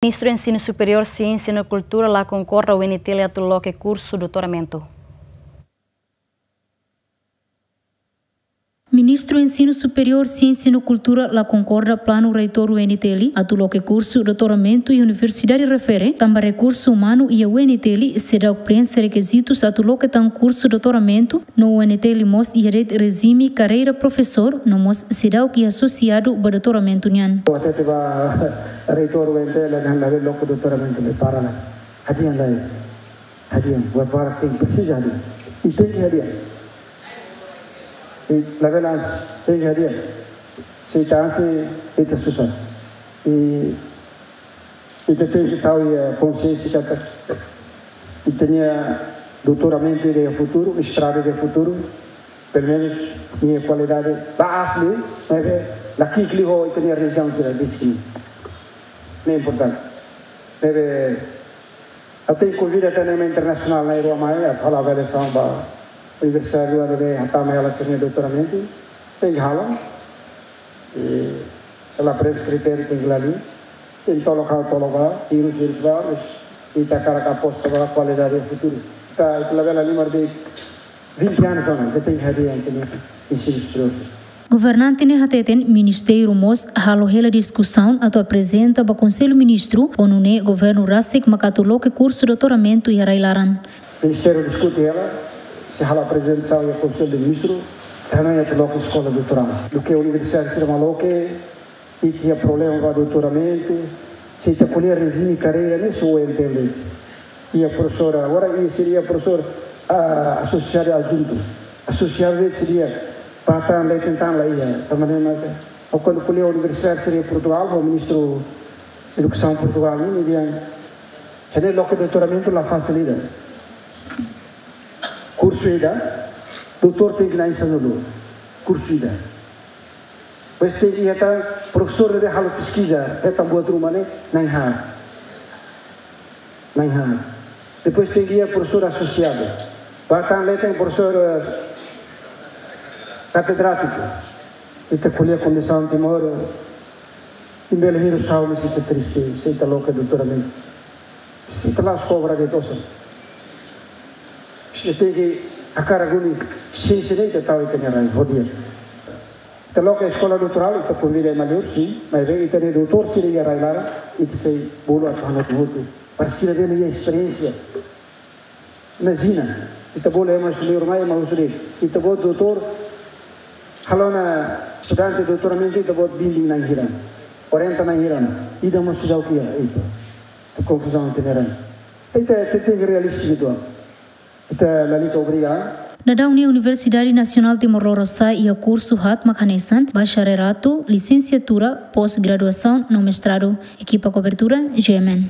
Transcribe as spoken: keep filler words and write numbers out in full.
Ministru Ensinu Superiór, Siénsia no Kultura la konkorda UNTL atu loke kursu doutoramentu. Ministru Ensinu Superiór, Siénsia no Kultura la konkorda planu Reitór UNTL atu loke kursu doutoramentu iha universidade refere, tanba rekursu umanu iha UNTL seidauk preenxe rekizitus atu loke tan kursu doutoramentu, no UNTL mós iha de'it rejime karreira profesór, no mós seidauk iha asosiadu ba doutoramentu nian. Hatete ba Reitór UNTL dehan labele loke doutoramentu, labele para la. Hadi'a lai. Hadi'a, buat barak tenke presiza hadi'a. I tenke hadi'a. I labele tenke hadi'a. Se ita hanesan, ita susar. I ita tenke tau iha konsiénsia katak ita-nia doutoramentu iha futuru, mestradu iha futuru, pelumenus nia kualidade la aas liu, maibé la ki'ik liu ho ita-nia rejiaun sira besik. Ne'e importante. Maibé ha'u tenke konvida tan ema internasionál na'in-rua mai atu halo avaliasaun ba universidade rua ne'ebé hatama hela sira-nia doutoramentu, tenke halo. I se la preenxe kritériu tenke la liu. Tenke tolok ha'u tolok ba, hirus hirus ba, mas ita hakarak aposta ba kualidade iha futuru. Ita, ita labele halimar de'it vinte anos ona, ita tenke hadi'a ita-nia ensinu superiór. Governante ne'e hateten ministériu mós halo hela diskusaun atu aprezenta ba Konsellu Ministru, ho nune'e governu rasik mak atu loke kursu doutoramentu iha rai-laran. Ministériu diskute hela, sei halo aprezentasaun iha Konsellu de Ministru, tanba atu loke eskola doutorál. Duké universidade sira mak loke, i iha problema ba doutoramentu, se ita ko'alia rejime karreira ne'e só UNTL. Iha profesór, agora iha sira iha profesór, ah, asosiadu adjuntu. Asosiadu de'it sira iha, ba tan leten tan la iha, tanba ne'e mak, ha'u kuandu ko'alia universidade sira iha Portugál, ho ministru edukasaun Portugál, ne'e, nia dehan, ida-ne'e loke doutoramentu la fasil ida. Kursu ida, doutór tenke na'in sanulu. Kursu ida. Depois tenke iha tan profesór ne'ebé halo peskiza, hetan buat ruma ne'e, na'in haat. Na'in haat. Depois tenke iha profesór asosiadu. Ba tan leten profesór, eh, katedrátiku. Ita ko'alia kondisaun Timor, eh, imi bele hirus ha'u, mas ita triste, se ita loke doutoramentu. Se ita la'ós kobra de'it osan. Se ita tenke hakarak duni, siénsia ne'e ita tau iha ita-nia rai, ho di'ak. Ita loke eskola doutorál, ita konvida ema liur, sin, maibé ita-nia doutór sira iha rai-laran, ita sei bolu atu hanoin hotu. Para sira bele iha esperiénsia. Imajina, ita bolu ema husi liur mai, ema husi liur. Ita-boot doutór, halo ona estudante doutoramentu, ita-boot bimbing na'in hira. Orienta na'in hira. Ida mós seidauk iha, ita. Konfuzaun ita-nia rai. Ita, ita tenke realista uitoan. Ita lalika obriga. Daudaun ne'e Universidade Nasionál Timor Lorosa'e iha kursu haat mak hanesan, bacharelatu, lisensiatura, pós-graduasaun no mestradu. Ekipa kobertura, G M N.